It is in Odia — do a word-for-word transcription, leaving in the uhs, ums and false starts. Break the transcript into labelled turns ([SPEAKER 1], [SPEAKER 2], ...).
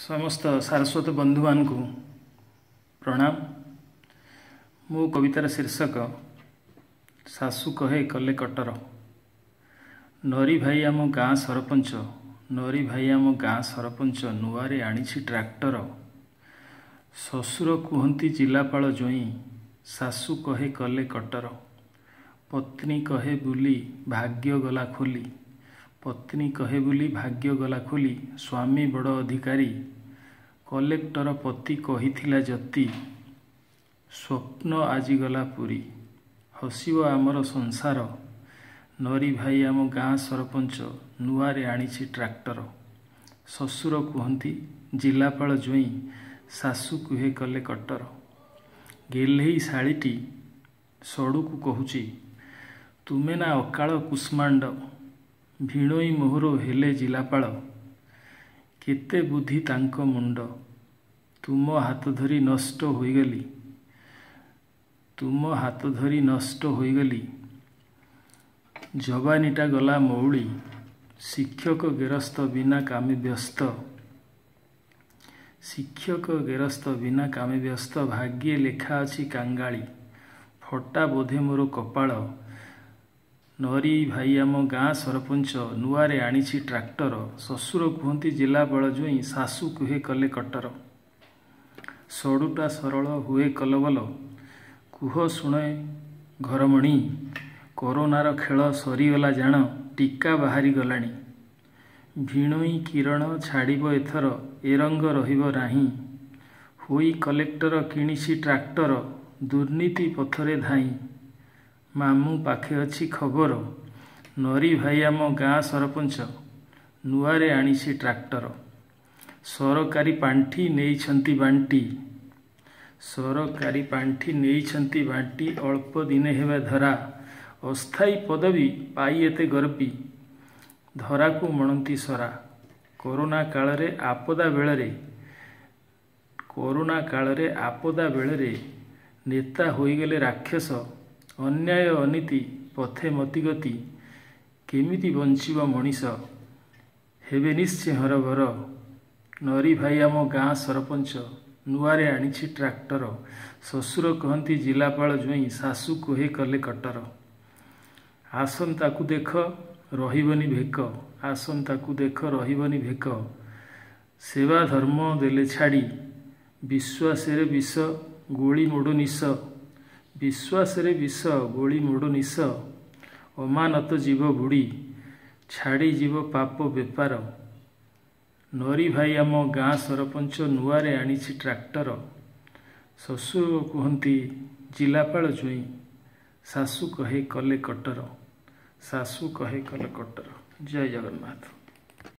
[SPEAKER 1] ସମସ୍ତ ସାରସ୍ୱତ ବନ୍ଧୁମାନଙ୍କୁ ପ୍ରଣାମ। ମୋ କବିତାର ଶୀର୍ଷକ ଶାଶୁ କହେ କଲେ କଟର। ନରି ଭାଇ ଆମ ଗାଁ ସରପଞ୍ଚ, ନରି ଭାଇ ଆମ ଗାଁ ସରପଞ୍ଚ, ନୂଆରେ ଆଣିଛି ଟ୍ରାକ୍ଟର। ଶ୍ୱଶୁର କୁହନ୍ତି ଜିଲ୍ଲାପାଳ ଜୋଇଁ, ଶାଶୁ କହେ କଲେ କଟର। ପତ୍ନୀ କହେ ବୁଲି ଭାଗ୍ୟ ଗଲା ଖୋଲି, ପତ୍ନୀ କହେ ବୁଲି ଭାଗ୍ୟ ଗଲା ଖୋଲି, ସ୍ୱାମୀ ବଡ଼ ଅଧିକାରୀ। କଲେକ୍ଟର ପତି କହିଥିଲା ଯତି, ସ୍ୱପ୍ନ ଆଜି ଗଲା ପୁରୀ। ହସିବ ଆମର ସଂସାର। ନରି ଭାଇ ଆମ ଗାଁ ସରପଞ୍ଚ, ନୂଆରେ ଆଣିଛି ଟ୍ରାକ୍ଟର। ଶ୍ୱଶୁର କୁହନ୍ତି ଜିଲ୍ଲାପାଳ ଜୋଇଁ, ଶାଶୁ କୁହେ କଲେ କଟର। ଗେହ୍ଲେଇ ଶାଳୀଟି ସଡ଼ୁକୁ କହୁଛି, ତୁମେ ନା ଅକାଳ କୁଷ୍ମାଣ୍ଡ, ଭିଣୋଇ ମୋହର ହେଲେ ଜିଲ୍ଲାପାଳ, କେତେ ବୁଦ୍ଧି ତାଙ୍କ ମୁଣ୍ଡ। ତୁମ ହାତ ଧରି ନଷ୍ଟ ହୋଇଗଲି, ତୁମ ହାତ ଧରି ନଷ୍ଟ ହୋଇଗଲି, ଯବାନୀଟା ଗଲା ମଉଳି। ଶିକ୍ଷକ ଗେରସ୍ତ ବିନା କାମେ ବ୍ୟସ୍ତ, ଶିକ୍ଷକ ଗେରସ୍ତ ବିନା କାମେ ବ୍ୟସ୍ତ, ଭାଗ୍ୟେ ଲେଖା ଅଛି କାଙ୍ଗାଳି। ଫଟା ବୋଧେ ମୋର କପାଳ। ନରି ଭାଇ ଆମ ଗାଁ ସରପଞ୍ଚ, ନୂଆରେ ଆଣିଛି ଟ୍ରାକ୍ଟର। ଶ୍ୱଶୁର କୁହନ୍ତି ଜିଲ୍ଲାପାଳ ଜୋଇଁ, ଶାଶୁ କୁହେ କଲେ କଟର। ସଡ଼ୁଟା ସରଳ ହୁଏ କଲବଲ, କୁହ ଶୁଣେ ଘରମଣି, କରୋନାର ଖେଳ ସରିଗଲା ଜାଣ, ଟୀକା ବାହାରି ଗଲାଣି। ଭିଣୋଇ କିରଣ ଛାଡ଼ିବ ଏଥର, ଏ ରଙ୍ଗ ରହିବ ନାହିଁ। ହୋଇ କଲେକ୍ଟର କିଣିଛି ଟ୍ରାକ୍ଟର, ଦୁର୍ନୀତି ପଥରେ ଧାଇଁ। ମାମୁଁ ପାଖେ ଅଛି ଖବର। ନରି ଭାଇ ଆମ ଗାଁ ସରପଞ୍ଚ, ନୂଆରେ ଆଣିଛି ଟ୍ରାକ୍ଟର। ସରକାରୀ ପାଣ୍ଠି ନେଇଛନ୍ତି ବାଣ୍ଟି, ସରକାରୀ ପାଣ୍ଠି ନେଇଛନ୍ତି ବାଣ୍ଟି, ଅଳ୍ପ ଦିନେ ହେବେ ଧରା। ଅସ୍ଥାୟୀ ପଦବୀ ପାଇ ଏତେ ଗର୍ବୀ, ଧରାକୁ ମଣନ୍ତି ସରା। କରୋନା କାଳରେ ଆପଦା ବେଳରେ, କରୋନା କାଳରେ ଆପଦା ବେଳରେ ନେତା ହୋଇଗଲେ ରାକ୍ଷସ। ଅନ୍ୟାୟ ଅନୀତି ପଥେ ମତିଗତି, କେମିତି ବଞ୍ଚିବ ମଣିଷ, ହେବେ ନିଶ୍ଚେ ହରଭର। ନରି ଭାଇ ଆମ ଗାଁ ସରପଞ୍ଚ, ନୂଆରେ ଆଣିଛି ଟ୍ରାକ୍ଟର। ଶ୍ୱଶୁର କହନ୍ତି ଜିଲ୍ଲାପାଳ ଜୋଇଁ, ଶାଶୁ କୁହେ କଲେ କଟର। ଆସନ୍ତାକୁ ଦେଖ ରହିବନି ଭେକ, ଆସନ୍ତାକୁ ଦେଖ ରହିବନି ଭେକ, ସେବା ଧର୍ମ ଦେଲେ ଛାଡ଼ି। ବିଶ୍ୱାସରେ ବିଷ ଗୋଳି ମୋଡ଼ ନିଶ, ବିଶ୍ୱାସରେ ବିଷ ଗୋଳି ମୋଡ଼ ନିଶ, ଅମାନତ ଯିବ ବୁଡ଼ି, ଛାଡ଼ିଯିବ ପାପ ବେପାର। ନରି ଭାଇ ଆମ ଗାଁ ସରପଞ୍ଚ, ନୂଆରେ ଆଣିଛି ଟ୍ରାକ୍ଟର। ଶ୍ୱଶୁର କୁହନ୍ତି ଜିଲ୍ଲାପାଳ ଜୋଇଁ, ଶାଶୁ କହେ କଲେ କଟର, ଶାଶୁ କହେ କଲେ କଟର। ଜୟ ଜଗନ୍ନାଥ।